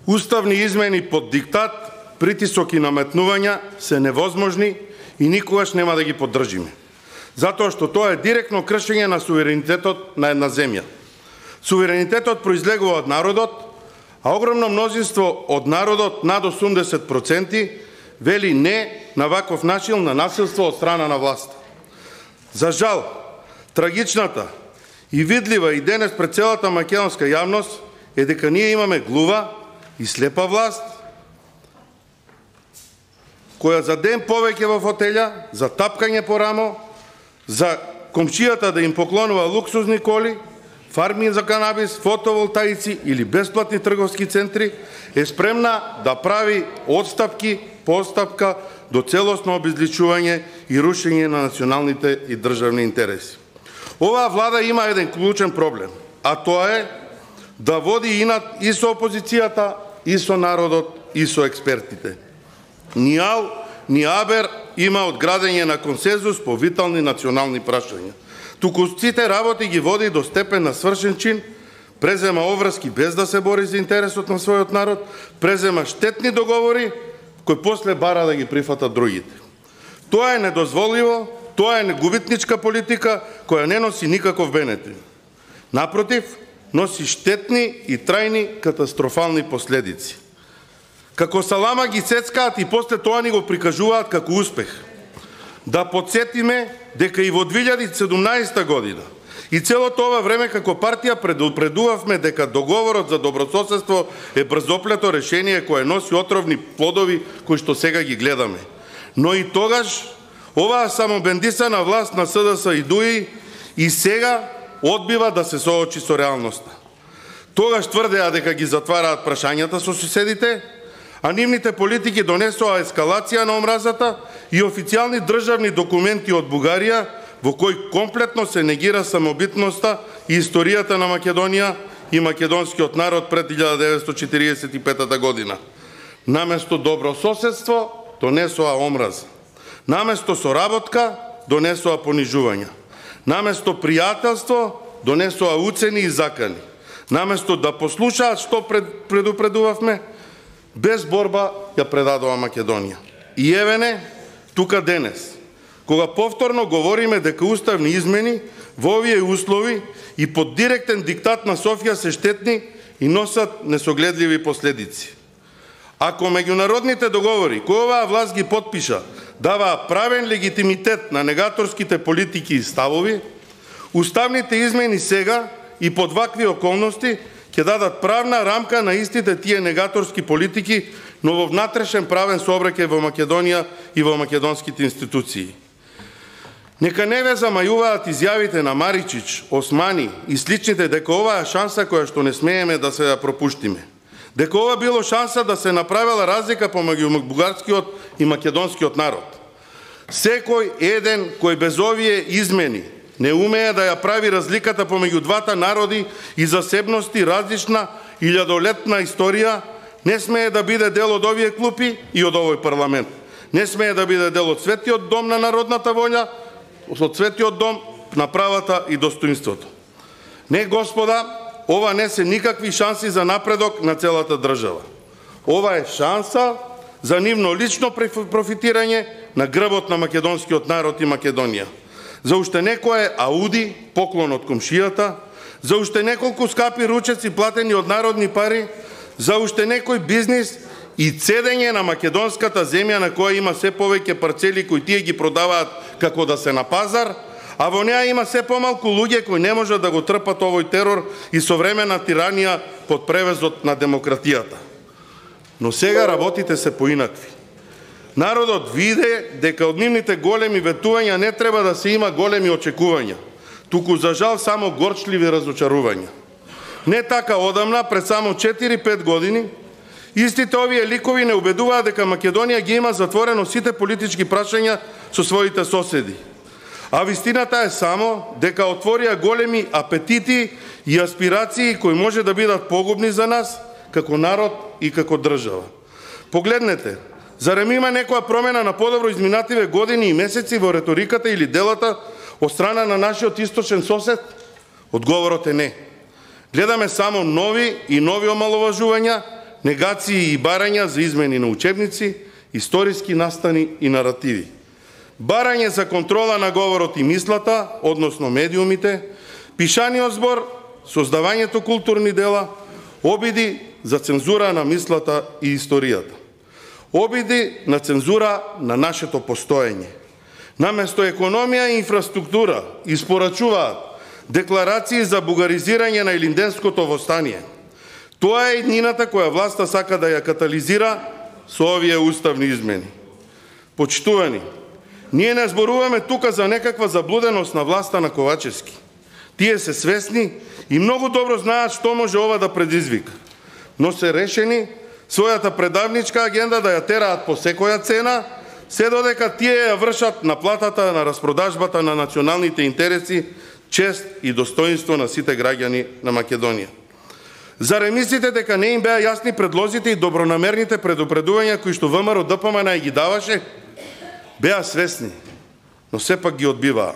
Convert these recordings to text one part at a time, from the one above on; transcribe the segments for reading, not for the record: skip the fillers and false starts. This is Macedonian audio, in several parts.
Уставни измени под диктат, притисок и наметнувања се невозможни и никогаш нема да ги поддржиме. Затоа што тоа е директно кршење на суверенитетот на една земја. Суверенитетот произлегува од народот, а огромно мнозинство од народот, над 80%, вели не на ваков начин на насилство од страна на власта. За жал, трагичната и видлива и денес пред целата македонска јавност е дека ние имаме глува и слепа власт, која за ден повеќе во фотелја, за тапкање по рамо, за комшијата да им поклонува луксузни коли, фарми за канабис, фотоволтаици или бесплатни трговски центри, е спремна да прави одстапки по одстапка до целосно обезличување и рушење на националните и државни интереси. Оваа влада има еден клучен проблем, а тоа е да води инат и со опозицијата, и со народот, и со експертите. Ни АЛ, ни АБЕР има одградење на консензус по витални национални прашања. Туку сите работи ги води до степен на свршен чин, презема обврски без да се бори за интересот на својот народ, презема штетни договори, кои после бара да ги прифатат другите. Тоа е недозволиво, тоа е губитничка политика која не носи никаков бенефит. Напротив, носи штетни и трајни катастрофални последици. Како салама ги цецкаат и после тоа ни го прикажуваат како успех. Да подсетиме дека и во 2017 година и целото ова време како партија предупредувавме дека договорот за добрососедство е брзоплето решение кое носи отровни плодови кои што сега ги гледаме. Но и тогаш оваа самобендисана власт на СДС и ДУИ и сега одбива да се соочи со реалноста. Тогаш тврдеа дека ги затвараат прашањата со соседите, а нивните политики донесоа ескалација на омразата и официјални државни документи од Бугарија во кои комплетно се негира самобитноста и историјата на Македонија и македонскиот народ пред 1945 година. Наместо добро соседство донесоа омраза. Наместо соработка донесоа понижувања. Наместо пријателство донесоа уцени и закани. Наместо да послушаат што предупредувавме, без борба ја предадува Македонија. И евене, тука денес, кога повторно говориме дека уставни измени во овие услови и под директен диктат на Софија се штетни и носат несогледливи последици. Ако меѓународните договори кои оваа власт ги потпиша даваа правен легитимитет на негаторските политики и ставови, уставните измени сега и под вакви околности ќе дадат правна рамка на истите тие негаторски политики, но во внатрешен правен сообраќај во Македонија и во македонските институции. Нека не ве замајуваат изјавите на Маричич, Османи и сличните дека оваа е шанса која што не смееме да се ја пропуштиме. Дека ова било шанса да се направила разлика помеѓу бугарскиот и македонскиот народ. Секој еден кој без овие измени не умее да ја прави разликата помеѓу двата народи и засебности различна илјадолетна историја, не смее да биде дел од овие клупи и од овој парламент. Не смее да биде дел од светиот дом на народната волја, од светиот дом на правата и достоинството. Не, господа, ова не се никакви шанси за напредок на целата држава. Ова е шанса за нивно лично профитирање на грбот на македонскиот народ и Македонија. За уште некое ауди, поклон од комшијата, за уште неколку скапи ручеци платени од народни пари, за уште некој бизнис и цедење на македонската земја на која има се повеќе парцели кои тие ги продаваат како да се на пазар, а во неа има се помалку луѓе кои не можат да го трпат овој терор и современа тиранија под превезот на демократијата. Но сега работите се поинакви. Народот виде дека од нивните големи ветувања не треба да се има големи очекувања, туку за жал само горчливи разочарувања. Не така одамна, пред само 4-5 години, истите овие ликови не убедуваат дека Македонија ги има затворено сите политички прашања со своите соседи. А вистината е само дека отворија големи апетити и аспирации кои може да бидат погубни за нас, како народ и како држава. Погледнете, зарем има некоја промена на подобро изминативе години и месеци во реториката или делата од страна на нашиот источен сосед? Одговорот е не. Гледаме само нови и нови омаловажувања, негации и барања за измени на учебници, историски настани и наративи. Барање за контрола на говорот и мислата, односно медиумите, пишаниот збор, создавањето културни дела, обиди за цензура на мислата и историјата. Обиди на цензура на нашето постоење. Наместо економија и инфраструктура испорачуваат декларации за бугаризирање на Илинденското востание. Тоа е еднината која власта сака да ја катализира со овие уставни измени. Почитувани, ние не зборуваме тука за некаква заблуденост на власта на Ковачевски. Тие се свесни и многу добро знаат што може ова да предизвика. Но се решени својата предавничка агенда да ја тераат по секоја цена, се додека тие ја вршат на платата на распродажбата на националните интереси, чест и достоинство на сите граѓани на Македонија. Заре мислите дека не им беа јасни предлозите и добронамерните предупредувања кои што ВМРО ДПМН ги даваше? Беа свесни, но сепак ги одбиваа.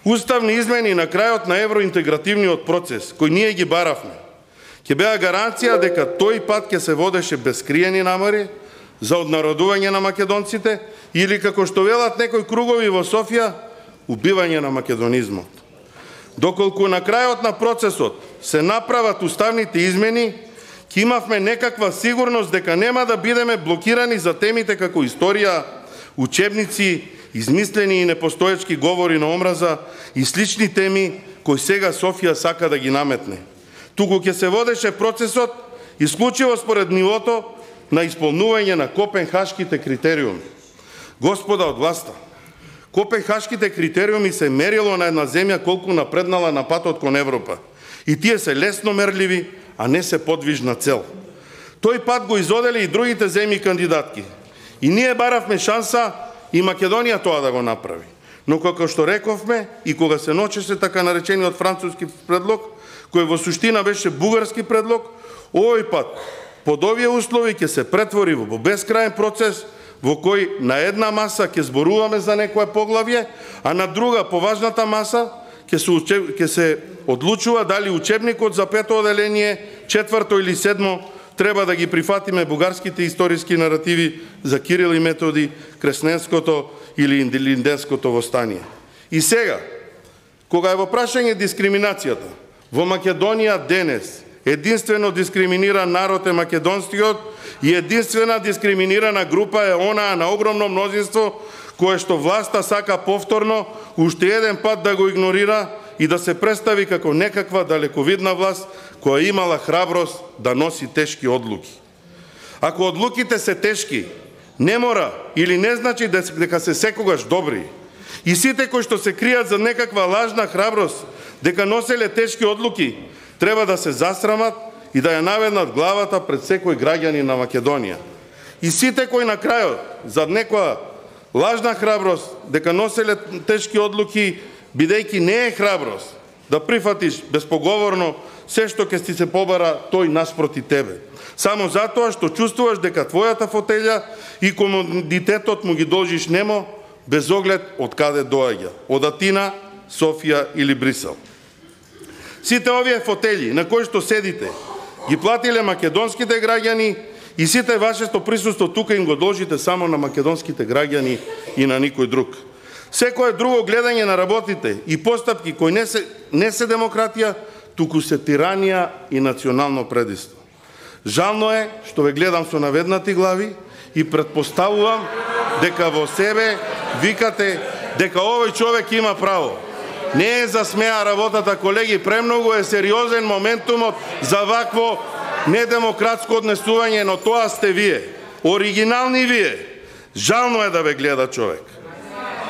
Уставни измени на крајот на евроинтегративниот процес, кој ние ги баравме, ќе беа гаранција дека тој пат ќе се водеше без скриени намери за однародување на македонците или, како што велат некои кругови во Софија, убивање на македонизмот. Доколку на крајот на процесот се направат уставните измени, ќе имавме некаква сигурност дека нема да бидеме блокирани за темите како историја, учебници, измислени и непостоечки говори на омраза и слични теми кои сега Софија сака да ги наметне. Туку ќе се водеше процесот исклучиво според нивото на исполнување на Копенхашките критериуми. Господа од власта, Копенхашките критериуми се мерило на една земја колку напреднала на патот кон Европа. И тие се лесно мерливи, а не се подвижна цел. Тој пат го изодели и другите земји кандидатки. И ние баравме шанса и Македонија тоа да го направи. Но како што рековме и кога се ночеше така наречениот француски предлог, кој во суштина беше бугарски предлог, овој пат под овие услови ќе се претвори во бескрајен процес во кој на една маса ќе зборуваме за некое поглавје, а на друга, поважната маса, ќе се одлучува дали учебникот за пето оделение, четврто или седмо, треба да ги прифатиме бугарските историски наративи за Кирил и Методи, Кресненското или Илинденското востание. И сега, кога е во прашање дискриминацијата, во Македонија денес единствено дискриминиран народ е македонскиот и единствена дискриминирана група е онаа на огромно мнозинство кое што власта сака повторно уште еден пат да го игнорира и да се представи како некаква далековидна власт која имала храброст да носи тешки одлуки. Ако одлуките се тешки, не мора или не значи дека се секогаш добри. И сите кои што се кријат за некаква лажна храброст дека носеле тешки одлуки, треба да се засрамат и да ја наведнат главата пред секој граѓанин на Македонија. И сите кои на крајот за некоја лажна храброст дека носеле тешки одлуки, бидејќи не е храброст да прифатиш безпоговорно се што ќе ти се побара тој наспроти тебе. Само затоа што чувствуваш дека твојата фотелја и комодитетот му ги должиш немо, без оглед од каде доаѓа, од Атина, Софија или Брисел. Сите овие фотели на кои што седите ги платиле македонските граѓани и сите вашето присуство тука им го должите само на македонските граѓани и на никој друг. Секое друго гледање на работите и постапки кои не се демократија, туку се тиранија и национално предиство. Жално е што ве гледам со наведнати глави и претпоставувам дека во себе викате дека овој човек има право. Не е за смеа работата, колеги, премногу е сериозен моментумот за вакво недемократско однесување, но тоа сте вие. Оригинални вие. Жално е да ве гледа човек.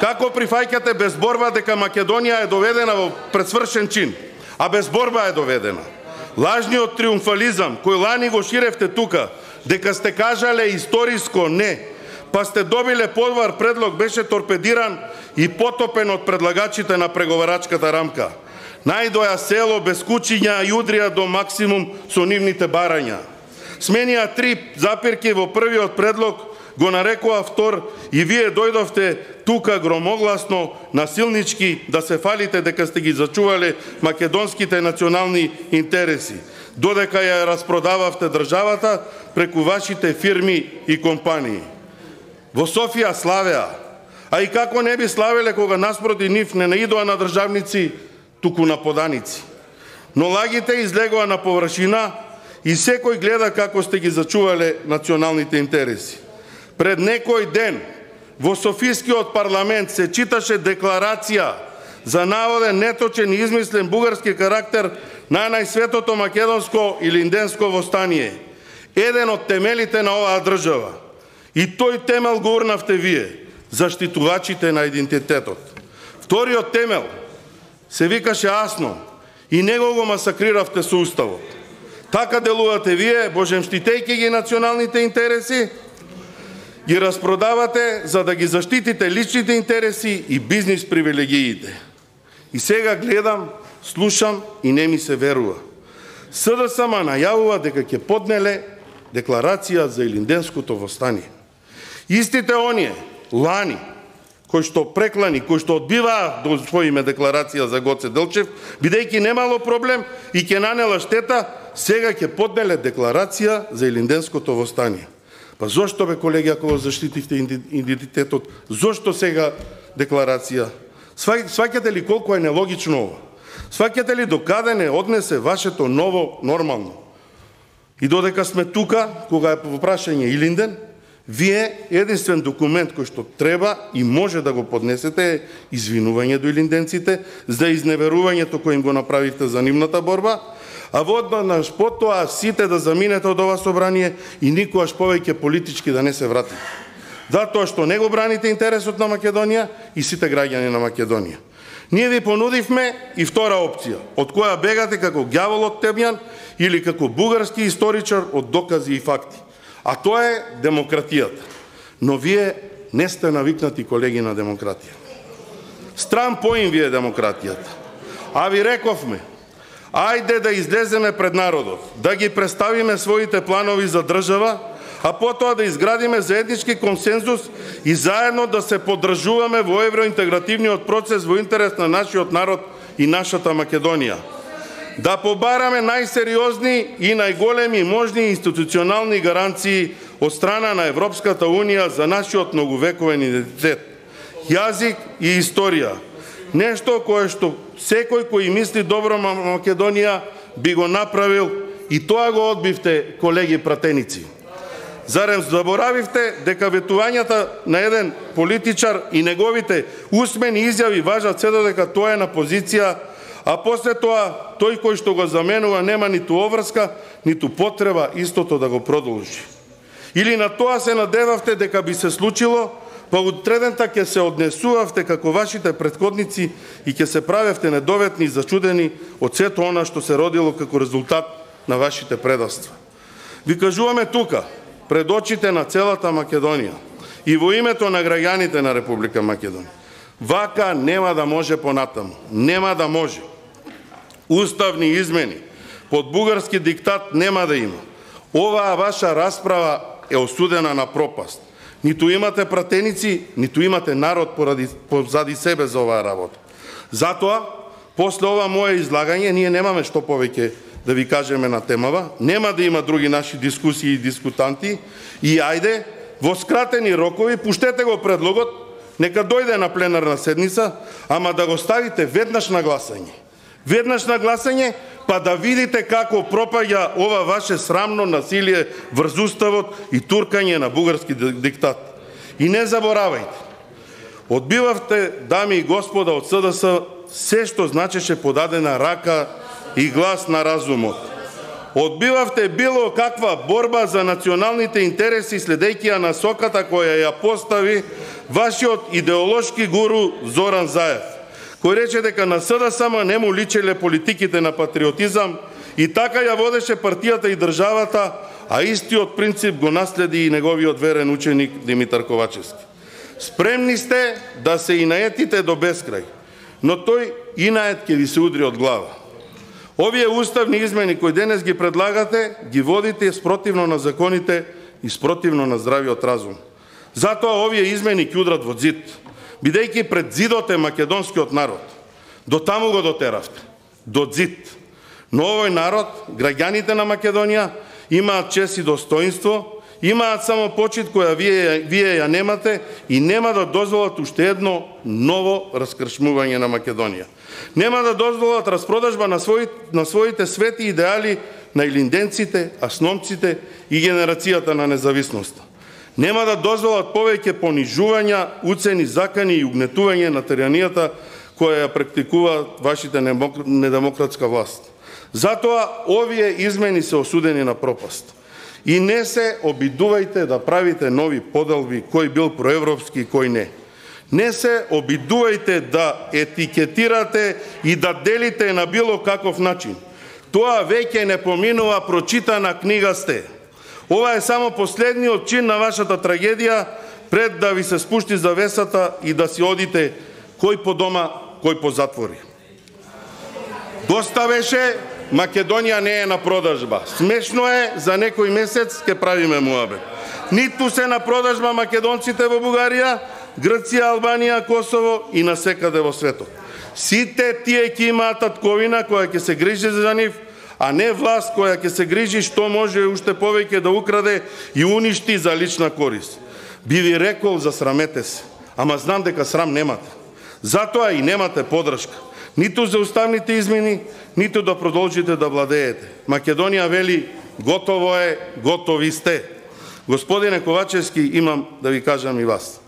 Како прифаќате без борба дека Македонија е доведена во пресвршен чин, а без борба е доведена? Лажниот триумфализам кој лани го ширевте тука, дека сте кажале историско не, па сте добиле подвар предлог, беше торпедиран и потопен од предлагачите на преговарачката рамка. Најдоја село без кучиња и удрија до максимум со нивните барања. Сменија 3 запирки во првиот предлог, го нарекува втор и вие дојдовте тука громогласно, насилнички, да се фалите дека сте ги зачувале македонските национални интереси. додека ја распродававте државата преку вашите фирми и компании. Во Софија славеа, а и како не би славеле кога наспроти нив не наидоа на државници, туку на поданици. Но лагите излегоа на површина и секој гледа како сте ги зачувале националните интереси. Пред некој ден во Софискиот парламент се читаше декларација за наводен неточен и измислен бугарски карактер на најсветото македонско и линденско востание. Еден од темелите на оваа држава. И тој темел го урнавте вие, заштитувачите на идентитетот. Вториот темел се викаше Асно и него го масакриравте со уставот. Така делувате вие, божемштитејќи ги националните интереси, ги распродавате за да ги заштитите личните интереси и бизнис привилегиите. И сега гледам, слушам и не ми се верува. СДСМ најавува дека ќе поднеле декларација за Илинденското востание. Истите оние, лани, кои што преклани, кои што одбиваа да усвоиме декларација за Гоце Делчев, бидејќи немало проблем и ќе нанела штета, сега ќе поднеле декларација за Илинденското востание. Па зошто бе, колеги, ако го заштитивте идентитетот, зошто сега декларација? Сваќате ли колку е нелогично ова? Сваќате ли докаде не однесе вашето ново нормално? И додека сме тука, кога е во прашање Илинден, вие единствен документ кој што треба и може да го поднесете е извинување до илинденците за изневерувањето кој им го направивте за нивната борба, а воднаш потоа сите да заминете од ова собрание и никогаш повеќе политички да не се вратите. Затоа што не го браните интересот на Македонија и сите граѓани на Македонија. Ние ви понудивме и втора опција, од која бегате како ѓавол од темјан или како бугарски историчар од докази и факти. А тоа е демократијата. Но вие не сте навикнати, колеги, на демократија. Стран поим ви е демократијата. А ви рековме, ајде да излеземе пред народот, да ги представиме своите планови за држава, а потоа да изградиме заеднички консензус и заедно да се поддржуваме во евроинтегративниот процес во интерес на нашиот народ и нашата Македонија. Да побараме најсериозни и најголеми можни институционални гаранции од страна на Европската Унија за нашиот многовековен идентитет, јазик и историја. Нешто кое што секој кој мисли добро на Македонија би го направил и тоа го одбивте, колеги пратеници. Зарем заборавивте дека ветувањата на еден политичар и неговите усмени изјави важат се додека тоа е на позиција, а после тоа тој кој што го заменува нема ниту обврска, ниту потреба истото да го продолжи. Или на тоа се надевавте дека би се случило, па утредента ќе се однесувавте како вашите претходници и ќе се правевте недоветни и зачудени од сето она што се родило како резултат на вашите предавства. Ви кажуваме тука, пред очите на целата Македонија и во името на граѓаните на Република Македонија. Вака нема да може понатаму. Нема да може. Уставни измени под бугарски диктат нема да има. Оваа ваша расправа е осудена на пропаст. Ниту имате пратеници, ниту имате народ позади себе за оваа работа. Затоа, после ова мое излагање, ние немаме што повеќе да ви кажеме на темава, нема да има други наши дискусии и дискутанти и ајде, во скратени рокови, пуштете го предлогот, нека дојде на пленарна седница, ама да го ставите веднаш на гласање. Веднаш на гласање, па да видите како пропаѓа ова ваше срамно насилие врз уставот и туркање на бугарски диктат. И не заборавајте, одбивавте, дами и господа од СДС, се што значеше подадена рака и глас на разумот. Одбивавте било каква борба за националните интереси следејќи ја насоката која ја постави вашиот идеолошки гуру Зоран Заев, кој рече дека на СДСМ не му личеле политиките на патриотизам и така ја водеше партијата и државата, а истиот принцип го наследи и неговиот верен ученик Димитар Ковачевски. Спремни сте да се инаетите до бескрај, но тој инает ќе ви се удри од глава. Овие уставни измени кои денес ги предлагате, ги водите спротивно на законите и спротивно на здравиот разум. Затоа овие измени ќе удрат во зид, бидејќи пред зидот е македонскиот народ. До таму го дотеравте, до зид. Но овој народ, граѓаните на Македонија, имаат чест и достоинство, имаат само почит која вие ја немате и нема да дозволат уште едно ново раскршмување на Македонија. Нема да дозволат распродажба на своите свети идеали на илинденците, асномците и генерацијата на независноста. Нема да дозволат повеќе понижувања, уцени, закани и угнетување на тиранијата која ја практикува вашите недемократска власт. Затоа овие измени се осудени на пропаст. И не се обидувајте да правите нови поделби кој бил проевропски и кој не. Не се обидувајте да етикетирате и да делите на било каков начин. Тоа веќе не поминува, прочитана книга сте. Ова е само последниот чин на вашата трагедија пред да ви се спушти завесата и да си одите кој по дома, кој по затвори. Доста беше, Македонија не е на продажба. Смешно е, за некој месец ќе правиме муабет. Ниту се на продажба македонците во Бугарија, Грција, Албанија, Косово и насекаде во светот. Сите тие ќе имаат татковина која ќе се грижи за нив, а не власт која ќе се грижи што може уште повеќе да украде и уништи за лична корист. Би ви рекол, засрамете се, ама знам дека срам немате. Затоа и немате подршка. Ниту за уставните измени, ниту да продолжите да владеете. Македонија вели, готово е, готови сте. Господине Ковачевски, имам да ви кажам и вас.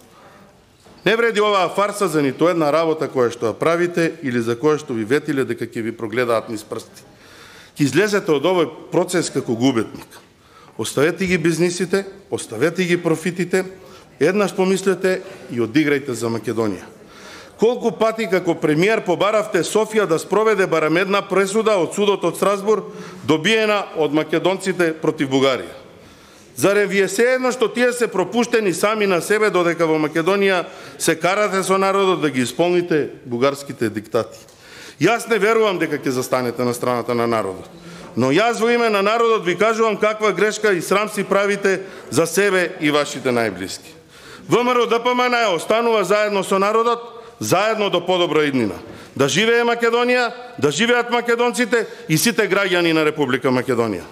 Не вреди оваа фарса за ниту една работа која што ја правите или за која што ви ветиле дека ќе ви прогледаат низ прсти. Ќе излезете од овој процес како губетник. Оставете ги бизнисите, оставете ги профитите, еднаш помислете и одиграјте за Македонија. Колку пати како премиер побаравте Софија да спроведе барем една пресуда од судот од Страсбург, добиена од македонците против Бугарија? Зарем ви е сеедно што тие се пропуштени сами на себе додека во Македонија се карате со народот да ги исполните бугарските диктати? Јас не верувам дека ќе застанете на страната на народот. Но јас во име на народот ви кажувам каква грешка и срам си правите за себе и вашите најблиски. ВМРО ДПМН останува заедно со народот, заедно до подобра иднина. Да живее Македонија, да живеат македонците и сите граѓани на Република Македонија.